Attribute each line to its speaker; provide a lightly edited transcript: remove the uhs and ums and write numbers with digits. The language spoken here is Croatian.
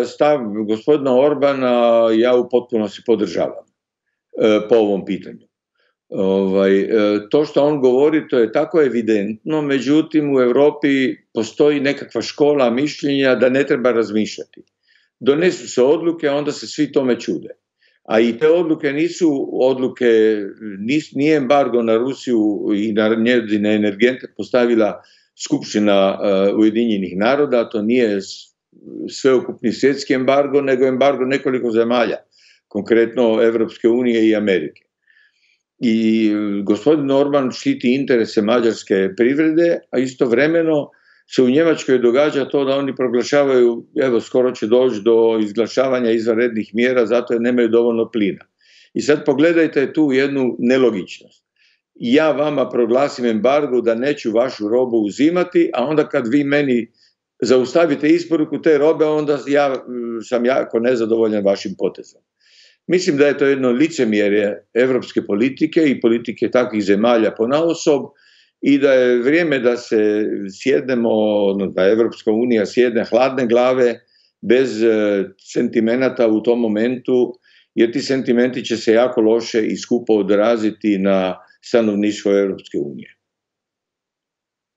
Speaker 1: Stav gospodina Orbana ja u potpunosti podržavam po ovom pitanju. To što on govori, to je tako evidentno, međutim u Europi postoji nekakva škola mišljenja da ne treba razmišljati. Donesu se odluke, a onda se svi tome čude. A i te odluke nisu odluke, nije embargo na Rusiju i na njezine energente postavila Skupština Ujedinjenih naroda, to nije sveukupni svjetski embargo, nego embargo nekoliko zemalja, konkretno Evropske unije i Amerike. I gospodin Orban štiti interese mađarske privrede, a istovremeno se u Njemačkoj događa to da oni proglašavaju, evo skoro će doći do izglašavanja izvanrednih mjera zato jer nemaju dovoljno plina. I sad pogledajte tu jednu nelogičnost. Ja vama proglasim embargo da neću vašu robu uzimati, a onda kad vi meni zaustavite isporuku te robe, onda ja sam jako nezadovoljan vašim potezom. Mislim da je to jedno licemjerje evropske politike i politike takvih zemalja ponaosob i da je vrijeme da se sjednemo, da Evropska unija sjedne hladne glave, bez sentimenata u tom momentu, jer ti sentimenti će se jako loše i skupo odraziti na stanovništvo Evropske unije.